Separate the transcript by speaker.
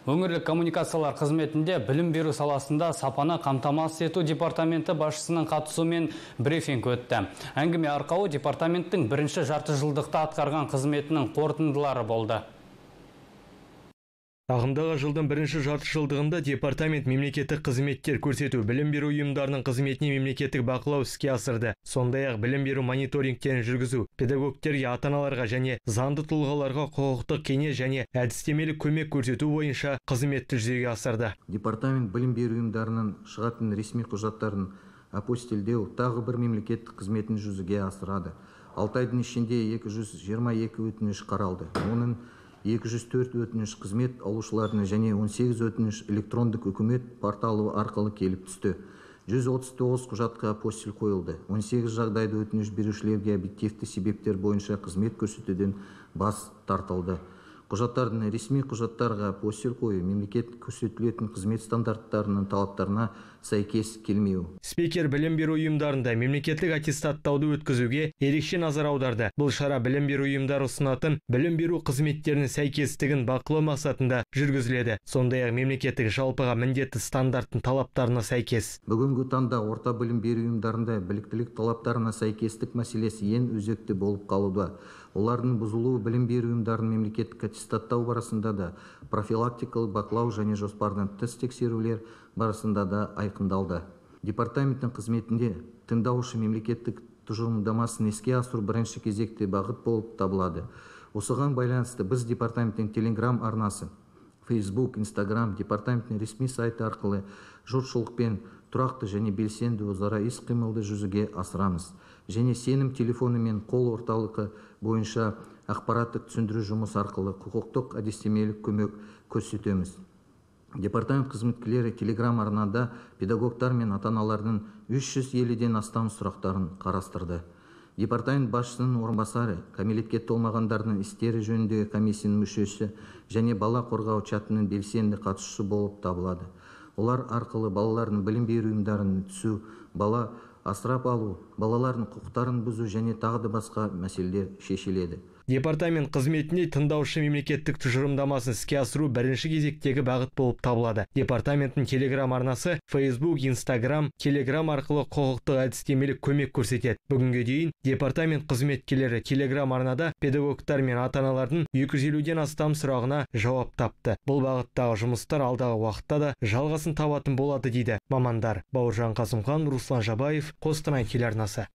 Speaker 1: Өңірлік коммуникациялар қызметінде білім беру саласында сапаны қамтамасыз ету департаменті басшысының қатысуымен брифинг өтті. Әңгіме арқауы департаменттің бірінші жарты жылдықта атқарған қызметінің қорытындылары болды.
Speaker 2: Ағымдағы жылдың бірінші жарты жылдығында департамент мемлекеттік қызметтер көрсету білім беру ұйымдарының қызметіне мемлекеттік бақылау іске асырды. Сондай-ақ білім беру мониторингтерін жүргізу, педагогтерге, ата-аналарға және заңды тұлғаларға құқықтық кеңес және әдістемелік көмек көрсету бойынша қызметті жүзеге асырды.
Speaker 3: Департамент білім беру ұйымдарының шығатын ресми құжаттарын апостильдеу тағы бір мемлекеттік қызметін жүзеге асырады. 6 айдың ішінде 222 өтініш қаралды. Оның 204 өтініш қызмет алушыларына және 18 өтініш электрондық үкімет порталы арқылы келіп түсті. 139 құжатқа апостиль қойылды. 18 жағдайда өтініш берушілерге объективті себептер бойынша қызмет көрсетуден бас тартылды. Құжаттардың ресми құжаттарға апостиль қою мемлекет көрсетілетін қызмет стандарттарының талаптарына сәйкес келмеу.
Speaker 2: Спикер білім беру ұйымдарында мемлекеттік аттестаттауды өткізуге ерекше назар аударды. Бұл шара білім беру ұйымдары ұсынатын білім беру қызметтерінің сәйкестігін бақылау мақсатында жүргізіледі. Сондай-ақ мемлекеттік жалпыға міндетті стандарттың талаптарына сәйкес.
Speaker 3: Бүгінгі таңда орта білім беру ұйымдарында біліктілік талаптарына сәйкестік мәселесі ең өзекті болып қалуда. Олардың бұзылуы білім беру ұйымдарының мемлекеттік аттестаттау барысында да, профилактикалық бақылау және жоспардан тыс тексерулер барысында да айқындалды. Департаменттің қызметінде тыңдаушы мемлекеттік тұжырымдамасын іске асыру бірінші кезекте бағыт болып табылады. Осыған байланысты біз департаменттің Telegram арнасы, Facebook, Instagram, департаменттің ресми сайты арқылы жұртшылықпен тұрақты және белсенді өзара іс-қимылды жүзеге асырамыз. Және сенім телефоны мен қол орталығы бойынша ақпараттық түсіндіру жұмыс арқылы құқықтық әдістемелік көмек көрсетеміз. Департамент қызметкерлері Telegram арнада педагогтар мен ата-аналардың 350-ден астам сұрақтарын қарастырды. Департамент басшысының орынбасары, кәмелетке толмағандардың істері жөніндегі комиссияның мүшесі және бала қорғау чатының белсенді қатысушысы болып табылады. Олар арқылы балалардың білім беру ұйымдарына түсу, бала асырап алу, балалардың құқықтарын бұзу және тағы да басқа мәселелер шешіледі.
Speaker 2: Департамент қызметінде тыңдаушы мемлекеттік тұжырымдамасын іске асыру бірінші кезектегі бағыт болып табылады. Департаменттің Telegram арнасы Facebook, Instagram, Telegram арқылы құқықтық әдістемелік көмек көрсетеді. Бүгінге дейін департамент қызметкерлері Telegram арнада педагогтар мен ата-аналардың 250-ден астам сұрағына жауап тапты. Бұл бағыттағы жұмыстар алдағы уақытта да жалғасын табатын болады дейді мамандар. Бауыржан Қасымхан, Руслан Жабаев, Қостанай телеарнасы.